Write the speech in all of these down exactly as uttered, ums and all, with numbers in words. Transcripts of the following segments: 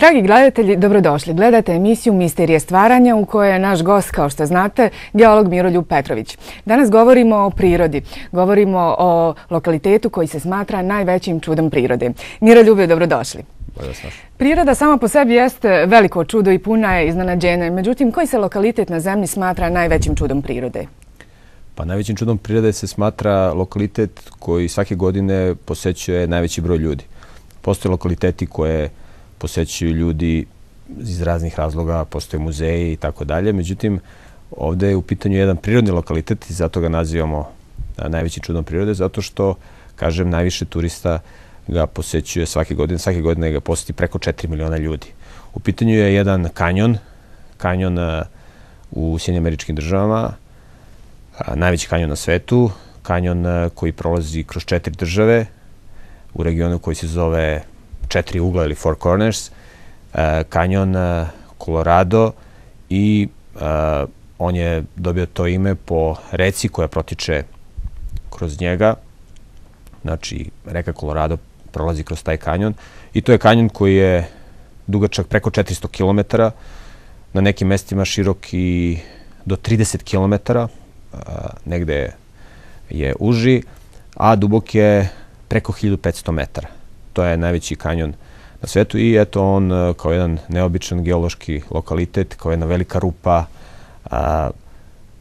Dragi gledatelji, dobrodošli. Gledate emisiju Misterije stvaranja u kojoj je naš gost, kao što znate, geolog Miroljub Petrović. Danas govorimo o prirodi. Govorimo o lokalitetu koji se smatra najvećim čudom prirode. Miroljube, dobrodošli. Priroda sama po sebi jeste veliko čudo i puna je iznenađenja. Međutim, koji se lokalitet na zemlji smatra najvećim čudom prirode? Pa najvećim čudom prirode se smatra lokalitet koji svake godine posećuje najveći broj ljudi. Postoje lokaliteti koje posećuju ljudi iz raznih razloga, postoje muzeji i tako dalje. Međutim, ovdje je u pitanju jedan prirodni lokalitet i zato ga nazivamo najvećim čudom prirode, zato što, kažem, najviše turista ga posećuje svake godine. Svake godine ga poseti preko četiri miliona ljudi. U pitanju je jedan kanjon, kanjon u Sjedinjenim Američkim Državama, najveći kanjon na svetu, kanjon koji prolazi kroz četiri države u regionu koji se zove Četiri ugla ili Four Corners, kanjon Colorado, i on je dobio to ime po reci koja protiče kroz njega. Znači, reka Colorado prolazi kroz taj kanjon i to je kanjon koji je dugačak preko četiristo kilometara, na nekim mestima širok i do trideset kilometara, negde je uži, a dubok je preko hiljadu petsto metara. To je najveći kanjon na svetu i eto on kao jedan neobičan geološki lokalitet, kao jedna velika rupa,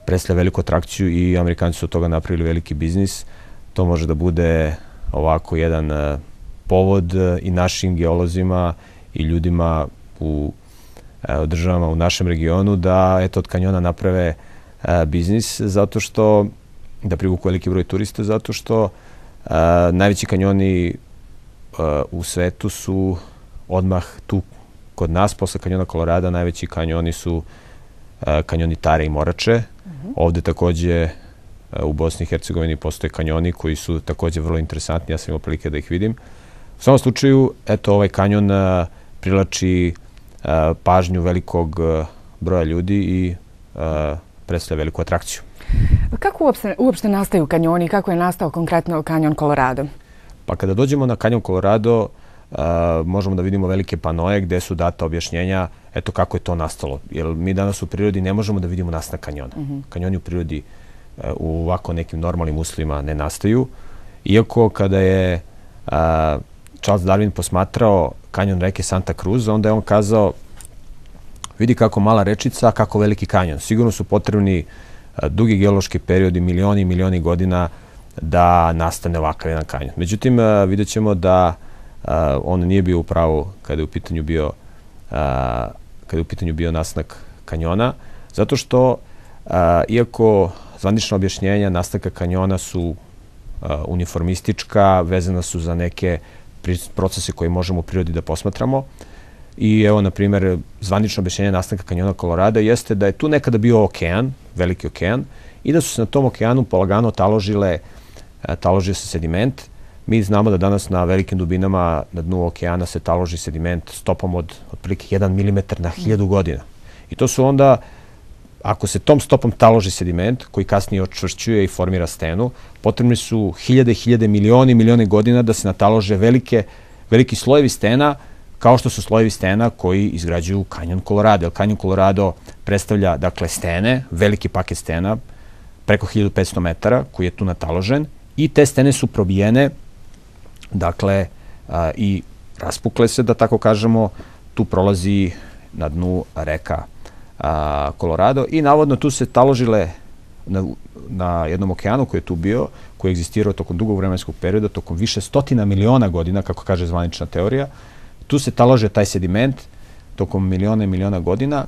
predstavlja veliku atrakciju i Amerikanci su od toga napravili veliki biznis. To može da bude ovako jedan povod i našim geolozima i ljudima u državama u našem regionu da eto od kanjona naprave biznis, zato što da privuku veliki broj turista, zato što najveći kanjoni u svetu su odmah tu kod nas, posle kanjona Kolorada, najveći kanjoni su kanjoni Tare i Morače. Ovde takođe u Bosni i Hercegovini postoje kanjoni koji su takođe vrlo interesantni, ja sam imao prilike da ih vidim. U svakom slučaju, eto, ovaj kanjon privlači pažnju velikog broja ljudi i predstavlja veliku atrakciju. Kako uopšte nastaju kanjoni i kako je nastao konkretno kanjon Colorado? Pa kada dođemo na kanjon Colorado, možemo da vidimo velike panoje gde su data objašnjenja eto kako je to nastalo. Jer mi danas u prirodi ne možemo da vidimo nastanak kanjona. Kanjoni u prirodi u ovako nekim normalnim uslovima ne nastaju. Iako kada je Charles Darwin posmatrao kanjon reke Santa Cruz, onda je on kazao, vidi kako mala rečica, kako veliki kanjon. Sigurno su potrebni dugi geološki periodi, milioni i milioni godina da nastane ovakav jedan kanjon. Međutim, vidjet ćemo da on nije bio u pravu kada je u pitanju bio kada je u pitanju bio nastanak kanjona, zato što iako zvanična objašnjenja nastanka kanjona su uniformistička, vezana su za neke procese koje možemo u prirodi da posmatramo. I evo, na primjer, zvanično objašnjenje nastanka kanjona Colorado jeste da je tu nekada bio okean, veliki okean, i da su se na tom okeanu polagano taložile, taložio se sediment. Mi znamo da danas na velikim dubinama na dnu okeana se taloži sediment stopom od otprilike jedan milimetar na hiljadu godina. I to su onda, ako se tom stopom taloži sediment, koji kasnije očvršćuje i formira stenu, potrebni su hiljade, hiljade, milioni, milioni godina da se natalože velike, veliki slojevi stena, kao što su slojevi stena koji izgrađuju kanjon Colorado. Jer kanjon Colorado predstavlja, dakle, stene, veliki paket stena, preko hiljadu petsto metara, koji je tu nataložen, i te stene su probijene, dakle, i raspukle se, da tako kažemo, tu prolazi na dnu reka Colorado i navodno tu se taložile na jednom okeanu koji je tu bio, koji je egzistirao tokom dugog vremenskog perioda, tokom više stotina miliona godina, kako kaže zvanična teorija. Tu se talože taj sediment tokom miliona i miliona godina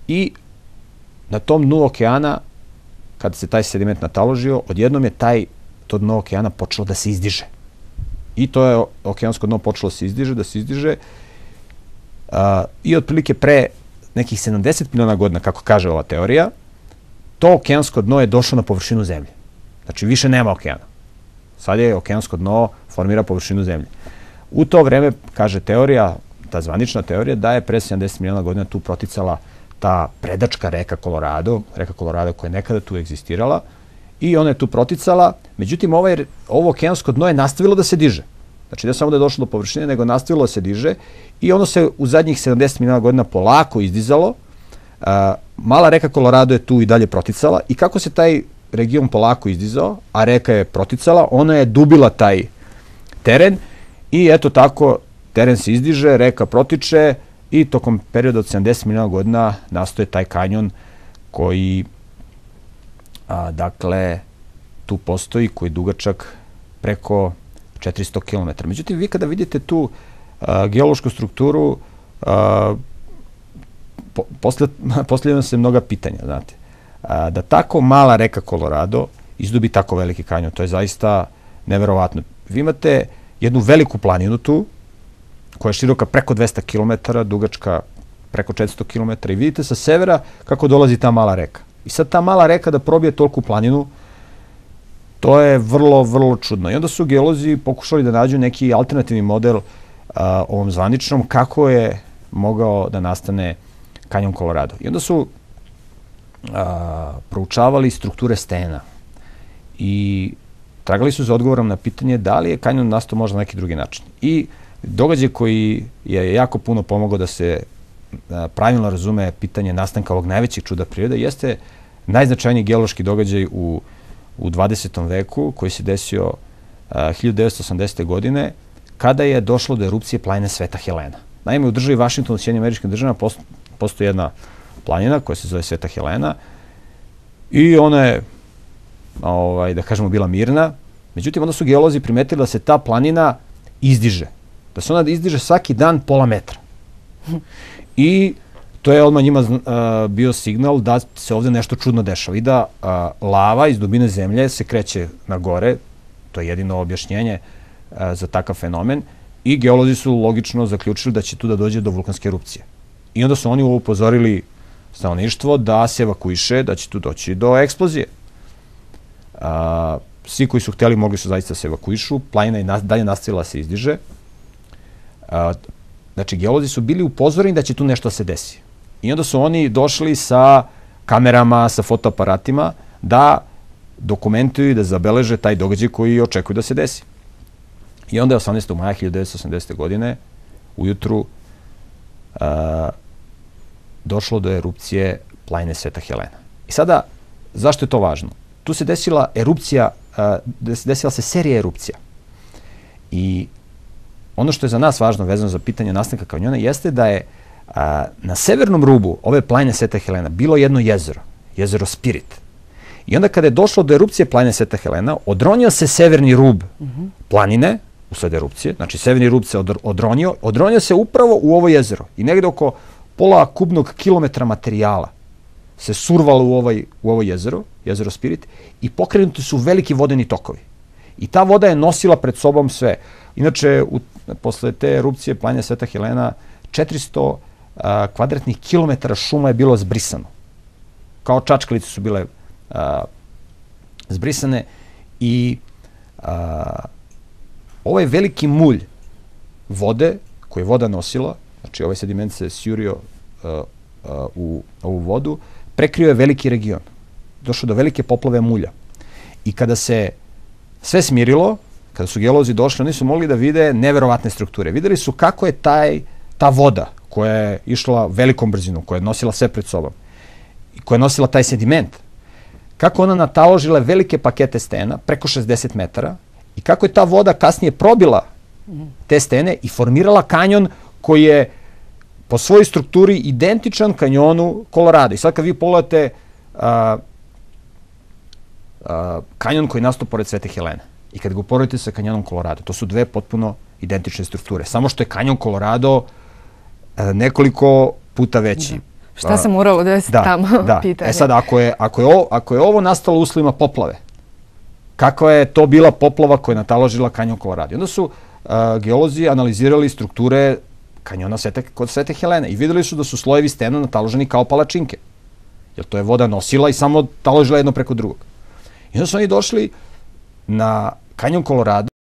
i na tom dnu okeana, kada se taj sediment nataložio, odjednom je taj, to dno okeana počelo da se izdiže. I to je okeansko dno počelo da se izdiže, da se izdiže i otprilike pre nekih sedamdeset miliona godina, kako kaže ova teorija, to okeansko dno je došlo na površinu zemlje. Znači, više nema okeana. Sad je okeansko dno formira površinu zemlje. U to vreme, kaže teorija, ta zvanična teorija, da je pre sedamdeset miliona godina tu proticala ta predačka reka Colorado, reka Colorado koja je nekada tu egzistirala, i ona je tu proticala. Međutim, ovo okeansko dno je nastavilo da se diže. Znači, ne samo da je došlo do površine, nego nastavilo da se diže i ono se u zadnjih sedamdeset miliona godina polako izdizalo. Mala reka Kolorado je tu i dalje proticala i kako se taj region polako izdizao, a reka je proticala, ona je dubila taj teren i eto tako teren se izdiže, reka protiče i tokom perioda od sedamdeset miliona godina nastoje taj kanjon koji, a, dakle, tu postoji, koji je dugačak preko četiristo kilometara. Međutim, vi kada vidite tu a, geološku strukturu, a, po, postavljaju se mnoga pitanja, znate. A, da tako mala reka Kolorado izdubi tako veliki kanjon, to je zaista neverovatno. Vi imate jednu veliku planinu tu, koja je široka preko dvesta kilometara, dugačka preko četiristo kilometara i vidite sa severa kako dolazi ta mala reka. I sad ta mala reka da probije toliku planinu, to je vrlo, vrlo čudno. I onda su geolozi pokušali da nađu neki alternativni model a, ovom zvaničnom kako je mogao da nastane kanjon Kolorado. I onda su a, proučavali strukture stena i tragali su za odgovorom na pitanje da li je kanjon nastao možda na neki drugi način. I događaj koji je jako puno pomogao da se a, pravilno razume pitanje nastanka ovog najvećeg čuda prirode jeste najznačajniji geološki događaj u, u dvadesetom veku koji se desio a, hiljadu devetsto osamdesete. godine kada je došlo do erupcije planine Sveta Helena. Naime, u državi Vašingtonu u Sjedinjenim Američkim Državama posto, postoji jedna planina koja se zove Sveta Helena i ona je, ovaj, da kažemo, bila mirna. Međutim, onda su geolozi primetili da se ta planina izdiže. Da se ona izdiže svaki dan pola metra. I to je odmah njima uh, bio signal da se ovde nešto čudno dešava i da uh, lava iz dubine zemlje se kreće na gore. To je jedino objašnjenje uh, za takav fenomen. I geolozi su logično zaključili da će tu da dođe do vulkanske erupcije. I onda su oni upozorili stanovništvo da se evakuiše, da će tu doći do eksplozije. Uh, svi koji su hteli mogli su zaista se evakuišu. Planina je nas, dalje nastavila se izdiže. Uh, znači, geolozi su bili upozoreni da će tu nešto se desi. I onda su oni došli sa kamerama, sa fotoaparatima da dokumentuju i da zabeleže taj događaj koji očekuju da se desi. I onda je osamnaestog maja hiljadu devetsto osamdesete. godine ujutru uh, došlo do erupcije planine Sveta Helena. I sada, zašto je to važno? Tu se desila erupcija, uh, desila se serija erupcija. I ono što je za nas važno vezano za pitanje nastanka kanjona jeste da je a, na severnom rubu ove planine Sveta Helena bilo jedno jezero, jezero Spirit. I onda kada je došlo do erupcije planine Sveta Helena, odronio se severni rub mm-hmm. planine usled erupcije, znači severni rub se odronio, odronio se upravo u ovo jezero i negde oko pola kubnog kilometra materijala se survalo u, ovaj, u ovo jezero, jezero Spirit, i pokrenuti su veliki vodeni tokovi. I ta voda je nosila pred sobom sve. Inače, u, posle te erupcije planine Sveta Helena, četiristo a, kvadratnih kilometara šuma je bilo zbrisano. Kao čačkalice su bile a, zbrisane i a, ovaj veliki mulj vode koji je voda nosila, znači ovaj sediment se sjurio a, a, u ovu vodu, prekrio je veliki region. Došlo do velike poplave mulja. I kada se sve smirilo, kada su geolozi došli, oni su mogli da vide neverovatne strukture. Videli su kako je taj, ta voda koja je išla velikom brzinom, koja je nosila sve pred sobom, i koja je nosila taj sediment, kako ona nataložila velike pakete stena, preko šezdeset metara, i kako je ta voda kasnije probila te stene i formirala kanjon koji je po svojoj strukturi identičan kanjonu Kolorado. I sad kad vi pogledate a, a, kanjon koji je nastao pored Svete Helene i kad ga uporedite sa kanjonom Kolorado, to su dve potpuno identične strukture. Samo što je kanjon Kolorado a, nekoliko puta veći. Da. Šta se moralo desiti da, tamo? Da. Pitanje. E sad, ako je, ako, je ovo, ako je ovo nastalo uslovima poplave, kakva je to bila poplava koja je nataložila kanjon Kolorado? Onda su uh, geolozi analizirali strukture kanjona Svete, kod Svete Helene i videli su da su slojevi stena nataloženi kao palačinke. Jer to je voda nosila i samo taložila jedno preko drugog. I onda su oni došli na kanjon Kolorado